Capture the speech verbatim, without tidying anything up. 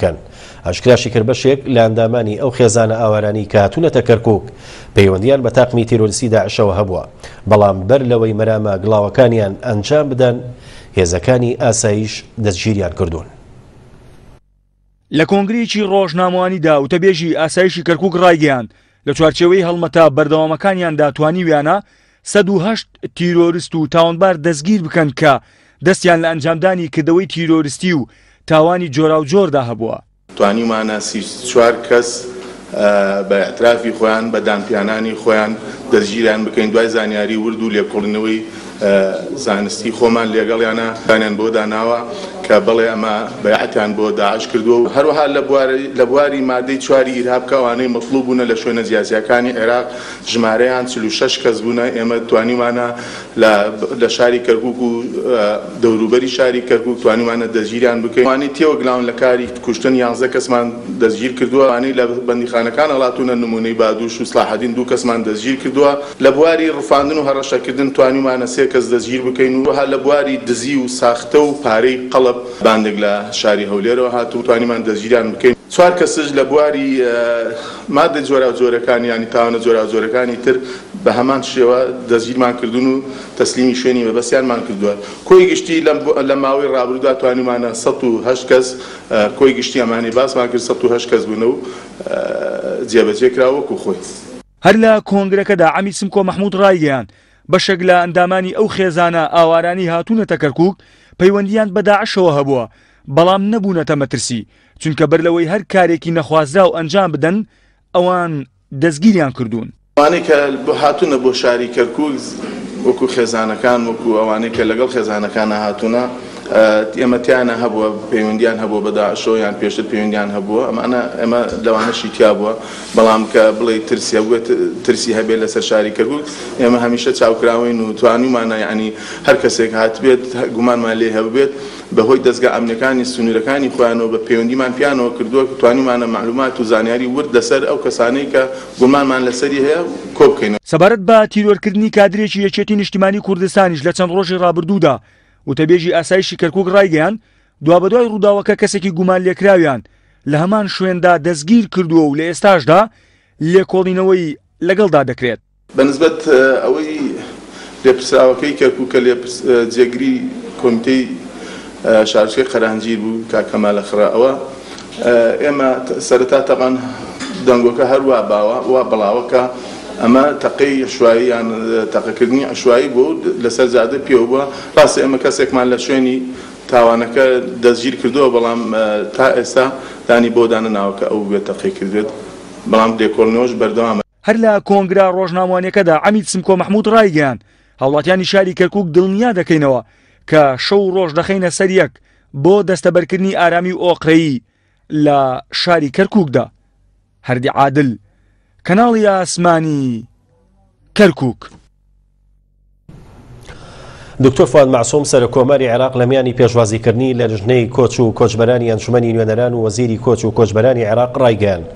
بکەن. ئاشکراشی کرد بەشێک لە ئەندامانی ئەو خێزانە ئاوارانەی کە هاتوونەتە کەرکووک پەیوەندیان بە تاقمی تیرۆریستی داعشەوە هەبووە، بەڵام بەر لەوەی مەرامە گڵاوەکانیان ئەنجام بدەن هێزەکانی ئاسایش دەستگیریان کردوون. لە کۆنگرەیەکی ڕۆژنامەوانیدا وتەبێژی ئاسایشی کەرکووک ڕایگەیاند لە چوارچێوەی هەڵمەتە بەردەوامەکانیاندا توانیویانە سەد و هەشت تیرۆریست و تاوانبار دەستگیر بکەن کە دەستیان لە ئەنجامدانی کردەوەی تیرۆریستی و تاوانی جۆراوجۆردا هەبووە. توانیومانە سی چوار کەس بە ئیعترافی خۆیان بە دانپیانانی خۆیان دەستگیریان بکەین. دوای زانیاری ورد و لێکۆڵینەوەی زانستی خۆمان لێگەڵیانە دانیان بۆ داناوە کە بەڵێ ئەمە بەیعەتیان بۆ داعش کردووە. هەروەها لە بواری مادەی چواری ئیرهاب کە ئەوانەی مەطلوب بوونە لە شوێنە جیاجیاکانی عێراق ژمارەیان چل و شەش کەس بوونە. ئێمە توانیمانە لە شاری کەرکووک و دەوروبەری شاری کەرکووک توانیمانە دەستگیریان بکەین. ئەوانەی تێوەگلاون لە کاری کوشتن یانزە کەسمان دەستگیر کردووە. ئەوانەی لە بەندیخانەکان هەڵاتوونە نمونەی بادوش و سلاحەدین دوو کەسمان دەستگیر کردووە. لە بواری ڕفاندن و هەڕەشەکردن توانیمانە سێ کەس دەستگیر بکەین و هەروەها لە بواری دزی و ساختە و پارەی قەڵب باندێک لە شاری هەولێرەوە هاتوو توانیمان دەستگیریان بکەین. چوار کەسش لە بواری مادە جۆراوجۆرەکان یانی تاوانە جۆراوجۆرەکانی تر بە هەمان شێوە دەستگیرمان کردوون و تەسلیمی شوێنی مەبەستیانمان کردووە. کۆی گشتی لە ماوەی ڕابردوودا توانیمانە سەد و هەشت کەس کۆی گشتی ئەمانەی باسمان کرد سەد و هەشت کەس بوونە و جێبەجێ کرا وەکو خۆی. هەر لە کۆنگرەکەدا عەمید سمکۆ مەحموود ڕایگەیاند بەشێک لە ئەندامانی ئەو خێزانە ئاوارانی هاتوونەتە کەرکووک پەیوەندیان بە داعشەوە هەبووە، بەڵام نەبوونەتە مەترسی، چونکە بەر لەوەی هەر کارێکی نەخوازراو ئەنجام بدەن ئەوان دەستگیریان کردوون. ئەوانەی کە هاتوونە بۆ شاری کەرکووک وەکو خێزانەکان وەکو ئەوانەی کە لەگەڵ خێزانەکانە هاتوونە ئێمە تیانە هەبووە پەیوەندیان هەبووە بە داعشەوە یان پێشتر پەیوەندیان هەبووە، ئەمانە ئێمە لەوانەشی تیا بووە. بەڵام کە بڵێ ترسی هەبووێت ترسی هەبێت لەسەر شاری کەرکووک ئێمە هەمیشە چاوکراوین و توانیومانە یعنی هەر کەسێک هاتبێت گومانمان لێ هەبێت بەهۆی دەستگا ئەمنیەکانی سنوورەکانی خۆیانەوە بە پەیوەندیمان پیانەوە کردووە توانیمانە معلومات و زانیاری ورد لەسەر ئەو کەسانەی کە گومانمان لەسەری هەیە کۆ بکەینەوە. سەبارەت بە تیرۆرکردنی کادرێکی یەکێتی نیشتیمانی کوردستانیش لە چەند ڕۆژی ڕابردوودا وتەبێژی ئاسایشی کەرکووک ڕایگەیاند دوابەدوای ڕووداوەکە کەسێکی گومان لێکراویان لە هەمان شوێندا دەستگیر کردووە و لە ئێستاشدا لێکۆڵینەوەی لەگەڵدا دەکرێت. بەنسبەت ئەوەی لێپرسراوەکەی کەرکووک کە جێگری کۆمیتەی شارۆچکەی قەرانجیر بوو کاک کەمالە خڕە، ئەوە ئێمە سەرەتا تەبان دەنگۆکە هەروە باوە وا بڵاوە کە ئەمە تەقەی عشوایی یان تەقەکردنی عشوایی بوو لەسەر جادە پێوە بووە. ڕاستە ئێمە کەسێکمان لە شوێنی تاوانەکە دەستگیر کردووە، بەڵام تا ئێستا دانی بۆ دانەناوە کە ئەو بێت تەقەی کردێت، بەڵام لێکۆڵینەوەش بەردەوامە. هەر لە کۆنگرە ڕۆژنامەوانیەکەدا عەمید سمکۆ مەحموود ڕایگەیاند هاوڵاتیانی شاری کەرکووک دڵنیا دەکەینەوە کە شەو ڕۆژ دەخەینە سەر یەک بۆ دەستەبەرکردنی ئارامی و ئۆقرەیی لە شاری کەرکووکدا. هەردی عادل، کەناڵی ئاسمانی کەرکووک. دکتۆر فواد مەعسوم سەرۆک کۆماری عێراق لە میانی پێشوازیکردنی لە لژنەی کۆچ و کۆچبەرانی ئەنجومەنی نوێنەران و وەزیری کۆچ و کۆچبەرانی عێراق ڕایگەیاند